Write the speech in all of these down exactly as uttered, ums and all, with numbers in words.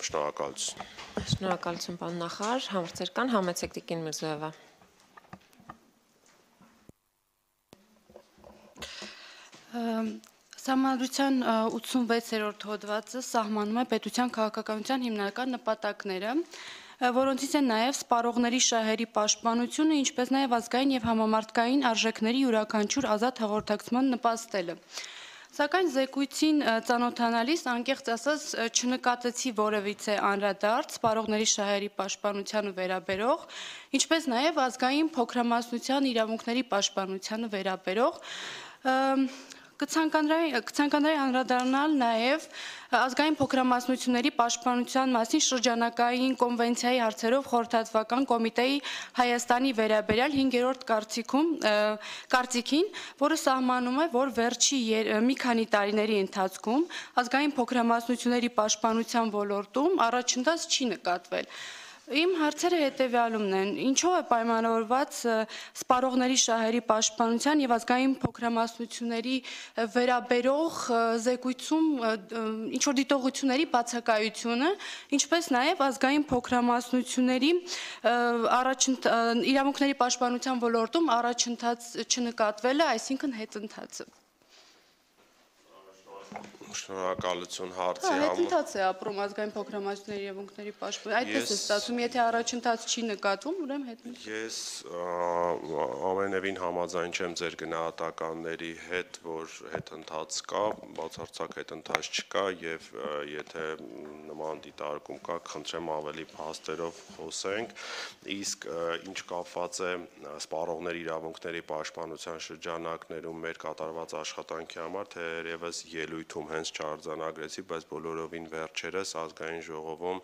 Շնորհակալություն։ Շնորհակալություն, պարոն նախարար, հարցեր կան, համեցեք Տիկին Միրզոևա։ Սահմանադրության ութսունվեցերորդ հոդվածը սահմանում է պետության քաղաքականության հիմնական նպատակները, որոնցից են նաև սպառողների շահերի պաշտպանությունը, ինչպես նաև ազգային և համամարտկային արժեքների յուրաքանչյուր ազատ հաղորդակցման նպաստելը։ Սակայն զեկույցին ծանոթանալիս անկեղծ ասած չնկատեցի որևիցե անդրադարձ սպառողների շահերի պաշտպանությանը վերաբերող, ինչպես նաև ազգային փոքրամասնության իրավունքների պաշտպանությանը վերաբերող, կցանկանայի անդրադառնալ նաև ազգային փոքրամասնությունների պաշտպանության մասին շրջանակային կոնվենցիայի հարցերով խորհրդատվական կոմիտեի Հայաստանի վերաբերյալ հինգերորդ կարծիքին, որը սահմանում է, որ վերջի մի քանի տարիների ընթացքում ազգային փոքրամասնությունների պաշտպանության ոլորտում առաջընթաց չի նկատվել։ Իմ հարցերը հետևյալումն են. ինչով է պայմանավորված սպառողների շահերի պաշտպանության և ազգային փոքրամասնությունների վերաբերող զեկույցում ինչ-որ դիտողությունների բացակայությունը, ինչպես նաև ազգային փոքրամասնությունների իրավունքների պաշտպանության ոլորտում առաջընթաց չնկատվելը, այսինքն հետընթացը։ Շնորհակալություն հարցի համար։ Հետընթաց է ապրում ազգային փոքրամասնությունների իրավունքների պաշտպանությունը, այդպես է ստացվում, եթե առաջընթաց չի նկատվում, ուրեմն հետընթաց։ Ես ամենևին համաձայն չեմ ձեր գնահատականների հետ, որ հետընթաց կա, բացարձակ հետընթաց չկա եւ եթե նման դիտարկում կա, խնդրեմ ավելի փաստերով խոսենք, իսկ ինչ կապված է սպառողների իրավունքների պաշտպանության շրջանակներում մեր կատարված աշխատանքի համար, թերևս ելույթում հենց չարձանագրեցի, բայց բոլորովին վերջերս ազգային ժողովում,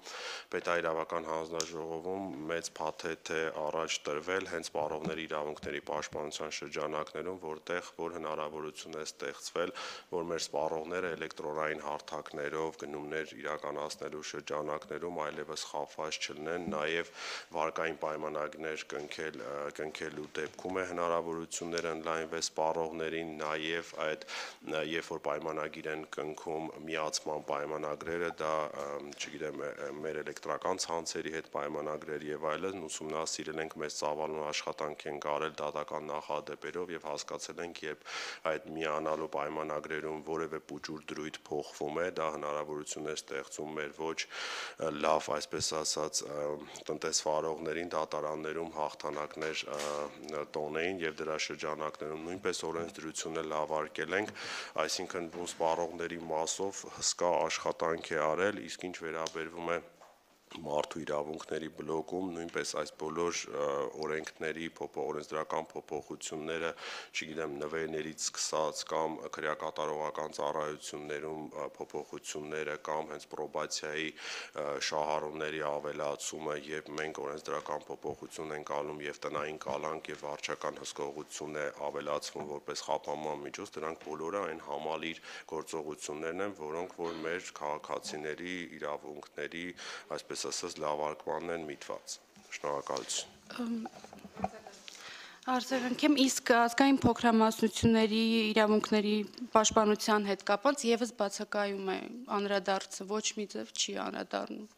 պետաիրավական հանձնաժողովում մեծ փաթեթ է առաջ տրվել հենց սպառողների իրավունքների պաշտպանության շրջանակներում, որտեղ որ հնարավորություն է ստեղծվել, որ մեր սպառողները էլեկտրոնային հարթակներով գնումներ իրականացնելու շրջանակներում այլևս խախված չլինեն, նաև վարկային պայմանագրեր կնքել, կնքելու դեպքում է հնարավորություններ ընդլայնվել սպառողներին, նաև այդ երբ որ պայմանագիր են կնքում միացման պայմանագրերը, դա, չգիտեմ, մեր էլեկտրական ցանցերի հետ պայմանագրեր եւ այլն, ուսումնասիրել ենք, մեծ ծավալուն աշխատանք ենք արել դատական նախադեպերով եւ հասկացել ենք, երբ այդ միանալու պայմանագրերում որևէ փուճուր դրույթ փոխվում է, դա հնարավորություն է ստեղծում մեր ոչ լավ, այսպես ասած, տնտեսվարողներին դատարաններում հաղթանակներ տոնեին եւ դրա շրջանակներում նույնպես օրենսդրությունը լավարկել ենք, այսինքն սպառողների մասով հսկա աշխատանք է արել, իսկ ինչ վերաբերվում է մարդու իրավունքների բլոկում, նույնպես այս բոլոր օրենքների օրենսդրական փոփոխությունները, չգիտեմ, նվերներից սկսած կամ քրեակատարողական ծառայություններում փոփոխությունները կամ հենց պրոբացիայի շահառուների ավելացումը, երբ մենք օրենսդրական փոփոխություն ենք անում եւ տնային կալանք եւ վարչական հսկողություն է ավելացվում որպես խափանման միջոց, դրանք բոլորը այն համալիր գործողություններն են, որոնք որ մեր քաղաքացիների իրավունքների, այսպես ասած, լավարկմանն են միտված։ Շնորհակալություն։ Արձագանքեմ, իսկ ազգային փոքրամասնությունների իրավունքների պաշտպանության հետ կապված եւս բացակայում է անդրադարձը, ոչ մի ձև չի անդրադառնում։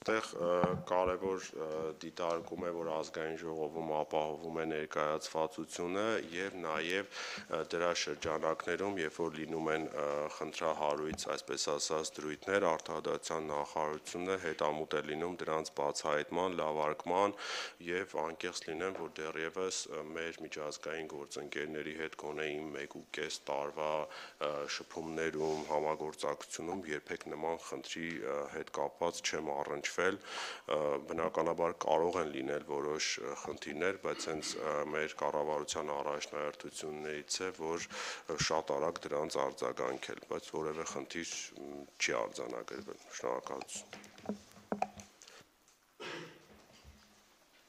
Այդտեղ կարևոր դիտարկում է, որ ազգային ժողովում ապահովում է ներկայացվածությունը եւ նաեւ դրա շրջանակներում, երբ որ լինում են խնդրահարույց, այսպես ասած, դրույթներ, արտադրության նախարարությունը հետամուտ է լինում դրանց բացահայտման, լավարկման եւ անկեղծ լինեմ, որ դեռևս մեր միջազգային գործընկերների հետ գոնե իմ մեկ ու կես տարվա շփումներում, համագործակցությունում երբեք նման խնդրի հետ կապված չեմ առնչվել, բնականաբար կարող են լինել որոշ խնդիրներ, բայց հենց մեր կառավարության առաջնահերթություններից է, որ շատ արագ դրանց արձագանքել, բայց որևէ խնդիր չի արձանագրվել։ Շնորհակալություն։